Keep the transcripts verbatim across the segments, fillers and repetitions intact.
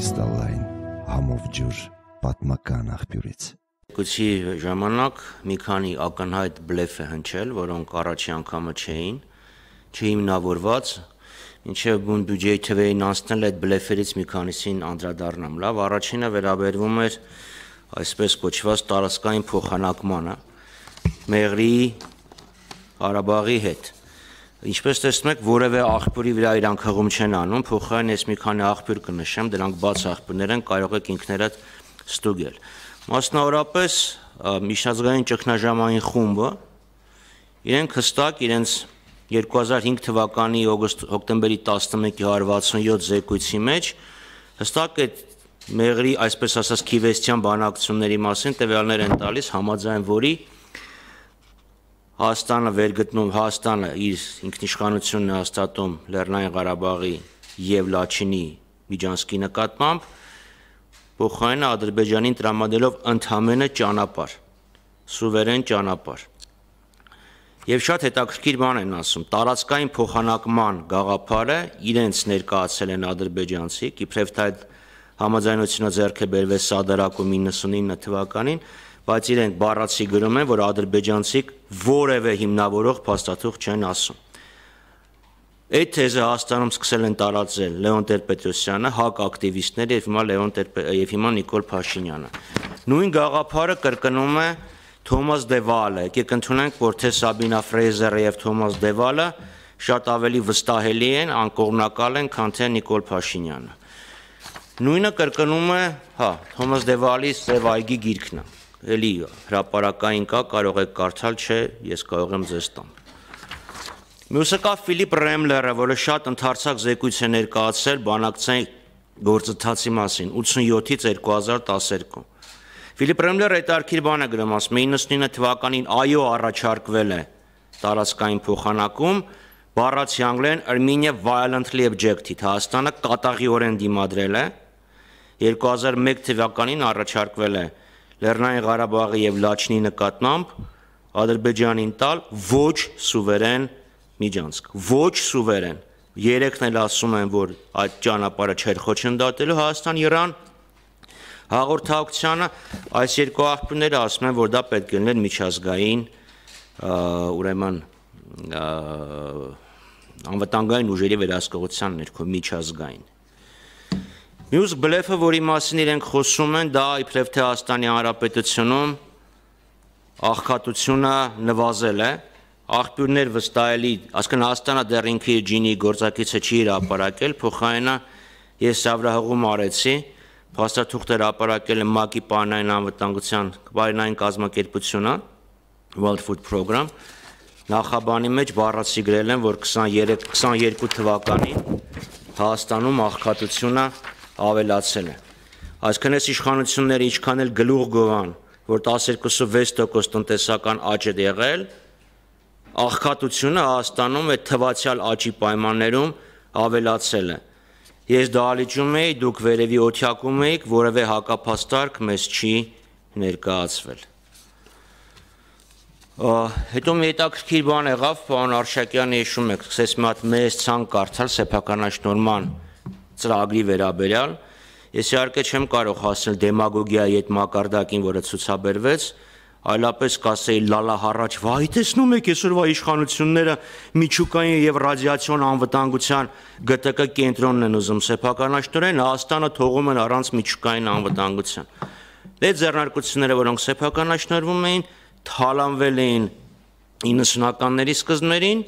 կրիստալային համով ջուր պատմական աղբյուրից։ Գուցի ժամանակ մի քանի ակնհայտ բլեֆ է հնչել, որոնք առաջի անգամը չէին, չհիմնավորված, մինչև բուն բյուջեի թվերին անցնել այդ բլեֆերից մի քանիսին անդրադառնամ։ Լավ, առաջինը վերաբերվում էր այսպես կոչված տարածքային փոխանակմանը Մեղրիի Ղարաբաղի հետ։ Ինչպես տեսնում եք, որևէ աղբյուրի վրա իրանք հղում չեն անում, փոխարեն ես մի քանի աղբյուր կնշեմ, դրանք բաց աղբյուրներ են, կարող եք ինքներդ ստուգել։ Մասնավորապես միջազգային ճգնաժամային խումբը իրենք հստակ իրենց երկու հազար հինգ թվականի հոկտեմբերի տասնմեկի հարյուր վաթսունյոթ զեկույցի մեջ հստակ այդ Մեղրի այսպես ասած քիվեստյան բանակցությունների մասին տվյալներ են տալիս, համաձայն որի Հայաստանը վերգտնում, Հայաստանը իր ինքնիշխանությունն է հաստատում Լեռնային Ղարաբաղի և Լաչինի միջանցքի նկատմամբ, փոխարենը Ադրբեջանին տրամադրելով ընդամենը ճանապարհ, սուվերեն ճանապարհ։ Եվ շատ հետաքրքիր բան են ասում, տարածքային փոխանակման գաղափարը իրենց ներկայացել են ադրբեջանցիք, իբրև թե այդ համաձայնությունը ձեռք է բերվել Սադարակում իննսունինը թվականին, բայց իրենք բառացի գրում են, որ ադրբեջանցիք որևէ հիմնավորող փաստաթուղթ չեն ասում։ Այդ թեզը Հայաստանում սկսել են տարածել Լեոն Տեր-Պետրոսյանը, ՀԱԿ ակտիվիստները եւ հիմա Լեոն եւ հիմա Նիկոլ Փաշինյանը։ Նույն գաղափարը կրկնում է Թոմաս Դևալը, եկեք ընդունենք, որ թե Սաբինա Ֆրեյզերը եւ Թոմաս Դևալը շատ ավելի վստահելի են, անկողմնակալ են, քան թե Նիկոլ Փաշինյանը։ Նույնը կրկնում է, հա, Թոմաս Դևալի Սև այգի գիրքն է, էլի հրապարակային կա, կարող եք կարդալ, չէ, ես կարող եմ ձեզ տամ։ Մյուսը կա Ֆիլիպ Ռեմլերը, որը շատ ընդարձակ զեկույց է ներկայացրել բանակցային գործընթացի մասին, ութսունյոթից երկու հազար տասներկու։ Ֆիլիպ Ռեմլերը հետաքրքիր բան է գրում, ասում է իննսունինը թվականին այո առաջարկվել է տարածքային փոխանակում, բառացի անգլերեն Armenia violently objected, Հայաստանը կատաղիորեն դիմադրել է, երկու հազար մեկ թվականին առաջարկվել է Լեռնային Ղարաբաղի եւ Լաչինի նկատմամբ Ադրբեջանին տալ ոչ սուվերեն միջանցք, ոչ սուվերեն։ Երեքն էլ ասում են, որ այդ ճանապարհը չէր խոչընդոտելու Հայաստան-Իրան հաղորդակցությանը, այս երկու աղբյուրները ասում են, որ դա պետք է լիներ միջազգային, ուրեմն անվտանգային ուժերի վերահսկողության ներքո միջազգային։ Մյուս բլեֆը, որի մասին իրենք խոսում են, դա իբրև թե Հայաստանի Հանրապետությունում աղքատությունը նվազել է, աղբյուրներ վստահելի, այսինքն Հայաստանը դեռ ինքը իր ջինի գործակիցը չի հրապարակել, փոխարենը ես սավրահղում արեցի, փաստաթուղթ հրապարակել է ՄԱԿ-ի պարենային անվտանգության պարենային կազմակերպությունը, World Food Program, նախաբանի մեջ բառացի գրել են, որ քսաներեք քսաներկու թվականին Հայաստանում աղքատությունը ավելացել է։ Այսինքն այս իշխանությունները ինչքան էլ գլուխ գովան, որ տասներկուսը վեց տոկոս տնտեսական աճ է եղել, աղքատությունը Հայաստանում այդ թվացյալ աճի պայմաններում ավելացել է։ Ես դահլիճում էի, դուք վերևի օթյակում էիք, որևէ հակափաստարկ մեզ չի ներկայացվել։ Հետո մի հետաքրքիր բան եղավ, պարոն Արշակյանը հիշում եք, սկսեց մի հատ մեծ ցանկ կարդալ սեփականաշնորհման ծրագրի վերաբերյալ, ես իհարկե չեմ կարող հասնել դեմագոգիայի այդ մակարդակին, որը ցուցաբերվեց, այլապես կասեի լալա հառաչ, վայ, տեսնում եք այսօրվա իշխանությունները միջուկային եւ ռադիացիոն անվտանգության Գ Տ Կ կենտրոնն են ուզում սեփականաշնորհեն, Հայաստանը թողում են առանց միջուկային անվտանգության։ Այդ ձեռնարկությունները, որոնք սեփականաշնորհվում էին, թալանվել էին իննսունականների սկզբներին,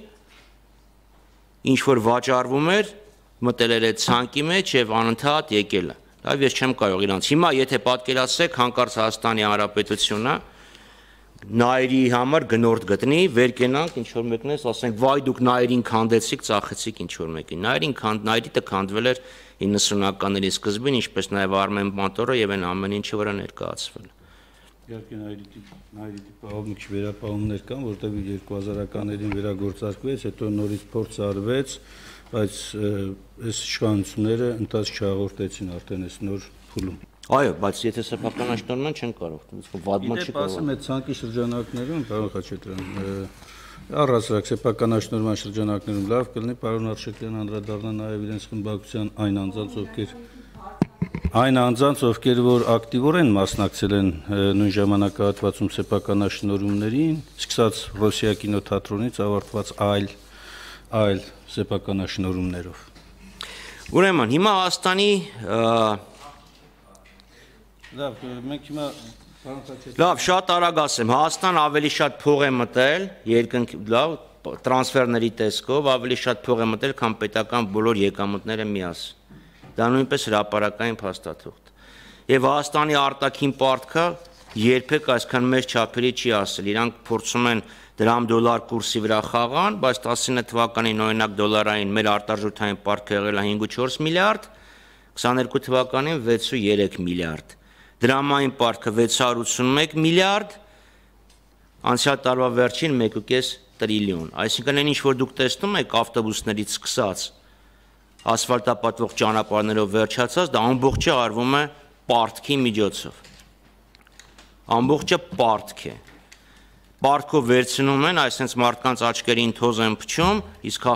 ինչ որ վաճառվում էր, մտել էր այդ ցանկի մեջ եւ անընդհատ եկել է։ Լավ, ես չեմ կարող իրանց։ Հիմա եթե պատկերացրեք հանկարծ Հայաստանի Հանրապետությունը նայերի համար գնորդ գտնի, վեր կենանք, ինչ որ մեկն էս, ասենք, վայ դուք նայերին քանդեցիք, ծախեցիք ինչ որ մեկին։ Նայերին քանդ, նայրիտը քանդվել էր իննսունականների սկզբին, ինչպես նաեւ Արմեն Մանտորը եւ այն ամեն ինչը վրա ներկայացվել։ Իհարկե նայրիտի նայրիտի պահով մի քիչ վերապահումներ կան, որտեղ երկու հազարականներին վերագործարկվեց, հետո նորից փորձ արվեց, բայց այս իշխանությունները ընթացք չհաղորդեցին արդեն այս նոր փուլում։ Այո, բայց եթե սեփականաշնորհում են չեն կարող, վադման չի կարող։ Ասեմ, այդ ցանկի շրջանակներում, պարոն Խաչատրյան, առհասարակ սեփականաշնորհման շրջանակներում լավ կլինի պարոն Արշակյանն անդրադառնա նաև իրենց խմբակցության այն անձանց, ովքեր Այն անձանց, ովքեր որ ակտիվորեն մասնակցել են նույն ժամանակահատվածում սեփականաշնորհումներին, սկսած Ռոսիա կինոթատրոնից ավարտված այլ այլ սեփականաշնորհումներով։ Ուրեմն հիմա Հայաստանի Լավ, մենք հիմա Լավ, շատ արագ ասեմ, Հայաստան ավելի շատ փող է մտել երկնք լավ տրանսֆերների տեսքով, ավելի շատ փող է մտել, քան պետական բոլոր եկամուտները միասին։ Դա նույնպես հրապարակային փաստաթուղթ։ Եվ Հայաստանի արտաքին պարտքը երբեք այսքան մեծ չափերի չի ասել։ Իրանք փորձում են դրամ-դոլար կուրսի վրա խաղան, բայց տասնինը թվականին օրինակ դոլարային մեր արտարժութային պարտքը եղել է հինգ ու չորս միլիարդ, քսաներկու թվականին վեց ու երեք միլիարդ։ Դրամային պարտքը վեց հարյուր ութսունմեկ միլիարդ, անցյալ տարվա վերջին մեկ ու կես տրիլիոն։ Այսինքն այն ինչ որ դուք տեսնում եք ավտոբուսներից սկսած ասֆալտապատվող ճանապարհներով վերջացած, դա ամբողջը արվում է պարտքի միջոցով։ Ամբողջը պարտք է։ Պարտքով վերցնում են, այսինքն մարդկանց աչքերին թոզ են փչում, իսկ